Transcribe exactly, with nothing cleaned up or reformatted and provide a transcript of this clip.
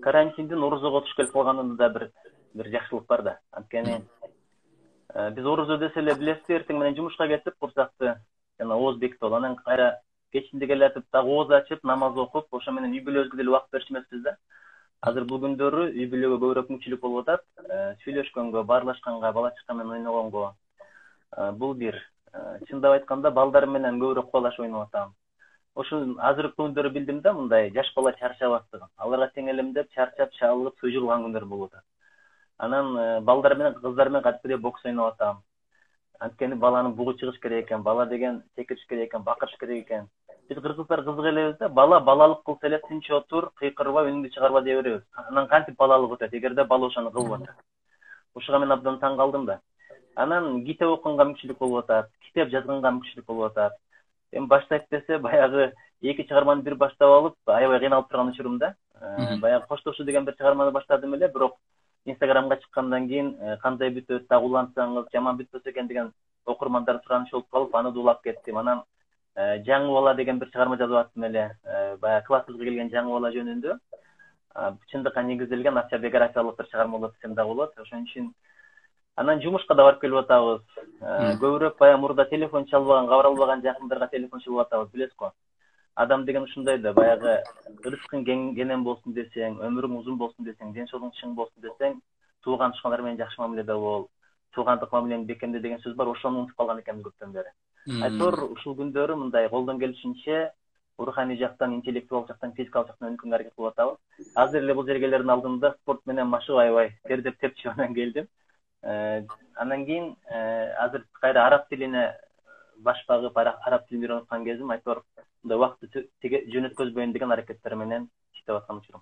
карантиндин орозого туш келип калганында да бир бир жакшылык бар да. Анткени биз орозо десе эле билесиз, эртең менен жумушка кетип, курсакты жана ооз бекитип алып, анан кайра кечинде келатып дагы ооз ачып, намаз окуп, ошо менен үй бүлөбүзгө деле убакыт берчү эмеспиз да. Азыр бул күндөрү үй бүлөгө көбүрөөк мүмкүнчүлүк болуп атат, сүйлөшкөнгө, баарлашканга, бала чака менен ойногонго. Бул бир. Чындап айтканда, балдар менен көбүрөөк кубалашып ойноп атам. Ошо азыркы күндөрү билдим да, мындай жаш бала чарчабастыгын. Аларга теңелемдеп, чарчап, чабылып, сыйжырган күндөр болуп атат. Анан балдар менен, кыздар менен кадимкидей бокс ойноп атам. Анткени баланы бугу чыгыш керек экен, бала деген секириш керек экен, бакырыш керек экен. Биз кыргыздар кызык элебиз да, бала балалык кылса эле тынч отур, кыйкырба, үнүңдү чыгарба дей беребиз. Анан кантип балалык өтөт, эгерде бала ошону кылып атат. Ушуга мен абдан таң калдым да. Анан китеп окуганга мүмкүнчүлүк болуп атат, китеп жазганга мүмкүнчүлүк болуп атат. Эми баштайт десе, баягы эки чыгарманы бир баштап алып, аябай кыйналып турган учурумда. Баягы коштошуу деген бир чыгарманы баштадым эле, бирок Инстаграмга чыккандан кийин кандай бүтөт, дагы улантсаңыз, жаман бүтпөсө экен деген окурмандар суранышы болуп калып, аны дуулап кеттим. Анан жаңы бала деген бир чыгарма жазып аттым эле. Баягы классыбызга келген жаңы бала жөнүндө. Чындыкка негизделген автобиографиялык бир чыгарма болот десем дагы болот. Ошон үчүн анан жумушка да барып келип атабыз. Көбүрөөк баягы мурда телефон чалбаган, кабар албаган жакындарга телефон чалып атабыз, билесиз го. Адам деген ушундай да, баягы рызкың кенен болсун десең, өмүрүң узун болсун десең, ден соолугуң чың болсун десең, тууган тушкандар менен жакшы мамиледе бол, туугандык мамилени бекемде деген сөз бар, ошону унутуп калган экенбиз көптөн бери. Айтор ушул күндөрү мындай колдон келишинче руханий жактан, интеллектуалдык жактан, физикалык жактан өнүккөнгө аракет кылып атабыз. Азыр эле бул жергелердин алдында спорт менен машыгып аябай тердеп тепчип анан келдим. Андан кийин азыр кайра араб тилине баш багып, араб тилин үйрөнүп аткан кезим, айтор мындай убакытты жөн өткөзбөйүн деген аракеттер менен иштеп аткан учурум.